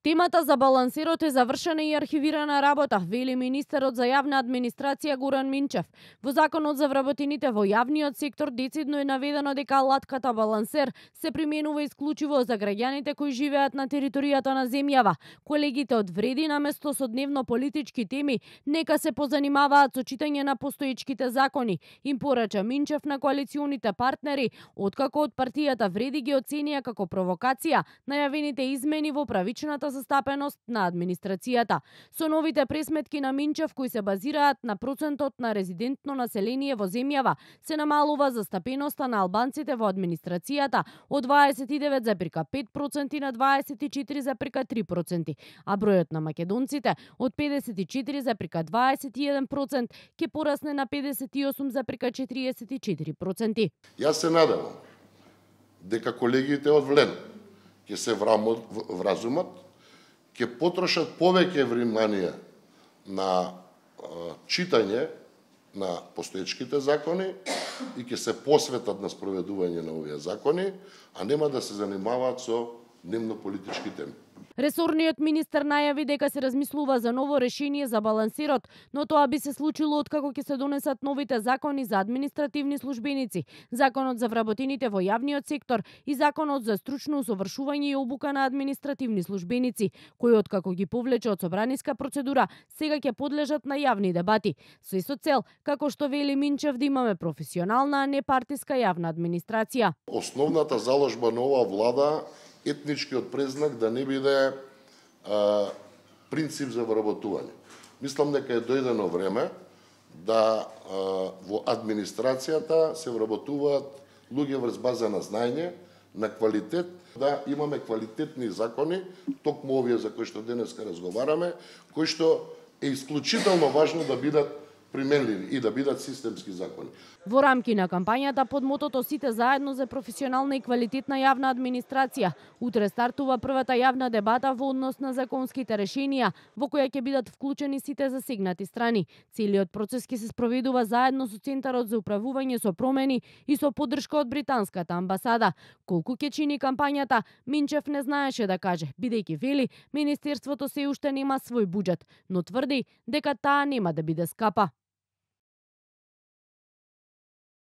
Темата за балансирот е завршена и архивирана работа, вели министерот за јавна администрација Горан Минчев. Во Законот за вработените во јавниот сектор децидно е наведено дека алатката балансер се применува исклучиво за граѓаните кои живеат на територијата на земјава. Колегите од Вреди наместо со дневно политички теми нека се позанимаваат со читање на постоечките закони, им порача Минчев на коалиционите партнери, откако од партијата Вреди ги оценија како провокација најавените измени во правичната застапеност на администрацијата. Со новите пресметки на Минчев кои се базираат на процентот на резидентно население во земјава, се намалува застапеноста на албанците во администрацијата од 29,5% на 24,3%, а бројот на македонците од 54,21% ќе порасне на 58,44%. Јас се надевам дека колегите од ВЛЕН ќе се вразумат, ќе потрошат повеќе внимание на читање на постоечките закони и ќе се посветат на спроведување на овие закони, а нема да се занимаваат со дневно политички теми. Ресорниот министер најави дека се размислува за ново решение за балансирот, но тоа би се случило откако ќе се донесат новите закони за административни службеници, Законот за вработените во јавниот сектор и Законот за стручно усовршување и обука на административни службеници, кои откако ги повлече од собраниска процедура, сега ќе подлежат на јавни дебати. Се со цел, како што вели Минчев, да имаме професионална, а не партиска јавна администрација. Основната заложба на оваа влада етничкиот презнак да не биде принцип за вработување. Мислам дека е дојдено време да во администрацијата се вработуваат луѓе врз база на знаење, на квалитет, да имаме квалитетни закони, токму овие за кои што денеска разговараме, кои што е исклучително важно да бидат применливи и да бидат системски закони. Во рамки на кампањата под мотото "Сите заедно за професионална и квалитетна јавна администрација", утре стартува првата јавна дебата во однос на законските решенија, во која ќе бидат вклучени сите засегнати страни. Целиот процес ќе се спроведува заедно со Центарот за управување со промени и со поддршка од британската амбасада. Колку ќе чини кампањата, Минчев не знаеше да каже, бидејќи вели министерството се уште нема свој буџет, но тврди дека таа нема да биде скапа.